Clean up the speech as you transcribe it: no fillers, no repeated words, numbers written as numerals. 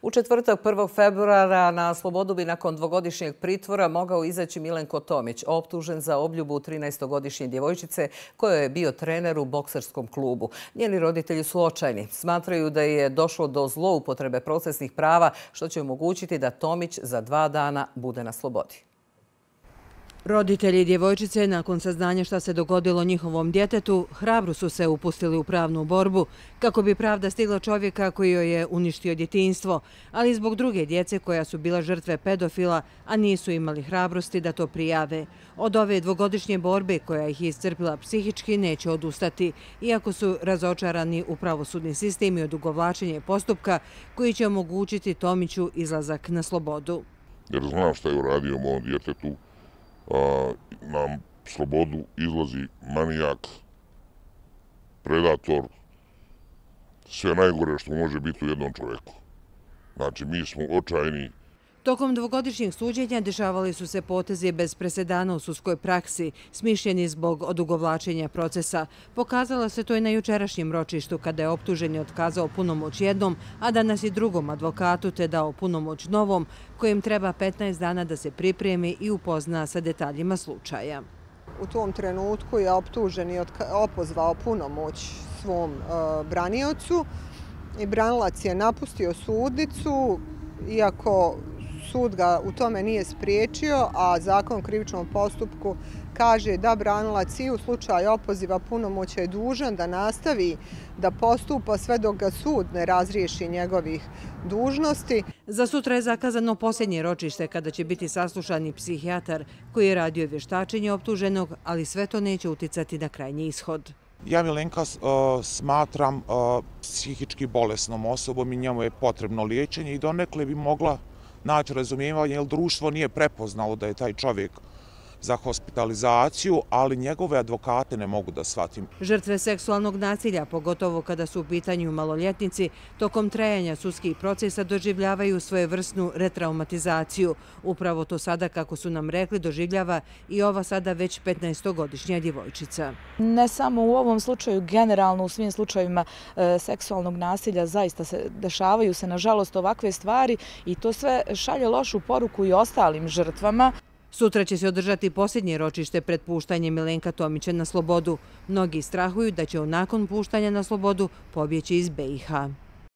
U četvrtak 1. februara na slobodu bi nakon dvogodišnjeg pritvora mogao izaći Milenko Tomić, optužen za obljubu 13-godišnje djevojčice kojoj je bio trener u bokserskom klubu. Njeni roditelji su očajni. Smatraju da je došlo do zloupotrebe procesnih prava, što će omogućiti da Tomić za 2 dana bude na slobodi. Roditelji djevojčice, nakon saznanja šta se dogodilo njihovom djetetu, hrabro su se upustili u pravnu borbu kako bi pravda stigla čovjeka koji joj je uništio djetinjstvo, ali i zbog druge djece koja su bila žrtve pedofila, a nisu imali hrabrosti da to prijave. Od ove dvogodišnje borbe koja ih je iscrpila psihički neće odustati, iako su razočarani u pravosudni sistem i odugovlačenje postupka koji će omogućiti Tomiću izlazak na slobodu. Jer znam šta je uradio mom djetetu. Na slobodu izlazi manijak, predator, sve najgore što može biti u jednom čovjeku. Znači, mi smo očajni. Tokom dvogodišnjeg suđenja dešavali su se potezi bez presedana u sudskoj praksi, smišljeni zbog odugovlačenja procesa. Pokazalo se to i na jučerašnjem ročištu kada je optuženi otkazao punomoć jednom, a danas i drugom advokatu te dao punomoć novom, kojem treba 15 dana da se pripremi i upozna sa detaljima slučaja. U tom trenutku je optuženi opozvao punomoć svom braniocu i branilac je napustio sudnicu, iako sud ga u tome nije spriječio, a zakon o krivičnom postupku kaže da branilac i u slučaju opoziva punomoća je dužan da nastavi da postupa sve dok ga sud ne razriješi njegovih dužnosti. Za sutra je zakazano posljednje ročište kada će biti saslušan i psihijatar koji je radio vještačenje optuženog, ali sve to neće uticati na krajnji ishod. Ja Milenka smatram psihički bolesnom osobom i njemu je potrebno liječenje i donekle bi mogla naći razumijevanje, jer društvo nije prepoznalo da je taj čovjek za hospitalizaciju, ali njegove advokate ne mogu da shvatim. Žrtve seksualnog nasilja, pogotovo kada su u pitanju maloljetnici, tokom trajanja sudskih procesa doživljavaju svojevrsnu retraumatizaciju. Upravo to sada, kako su nam rekli, doživljava i ova sada već 15-godišnja djevojčica. Ne samo u ovom slučaju, generalno u svim slučajevima seksualnog nasilja zaista se dešavaju se, nažalost, ovakve stvari i to sve šalje lošu poruku i ostalim žrtvama. Sutra će se održati posljednje ročište pred puštanjem Milenka Tomića na slobodu. Mnogi strahuju da će on nakon puštanja na slobodu pobjeći iz BiH.